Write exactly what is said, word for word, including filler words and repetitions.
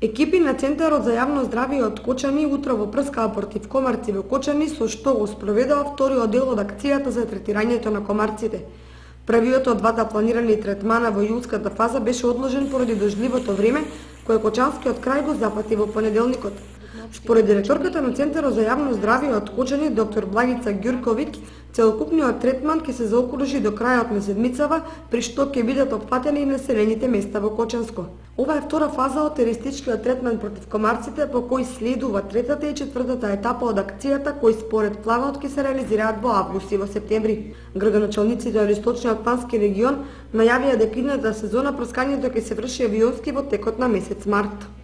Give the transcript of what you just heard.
Екипи на Центарот за јавно здравје од Кочани утрово прскаа против комарци во Кочани, со што го спроведува вториот дел од акцијата за третирањето на комарците. Првиот од двата планирани третмана во јулската фаза беше одложен поради дождливото време, кое Кочанскиот крај го запати во понеделникот. Според директорката на Центарот за јавно здравје од Кочани, доктор Благица Ѓурковиќ, целокупниот третман ќе се заокружи до крајот на седмицава, при што ќе бидат опфатени и населените места во Кочанско. Ова е втора фаза од терористичкиот третман против комарците, по кој следува третата и четвртата етапа од акцијата, кои според планот ќе се реализираат во август и во септември. Градоначалниците од Источниот плански регион најавија дека идната сезона прскањето ќе се врши авионски во текот на месец март.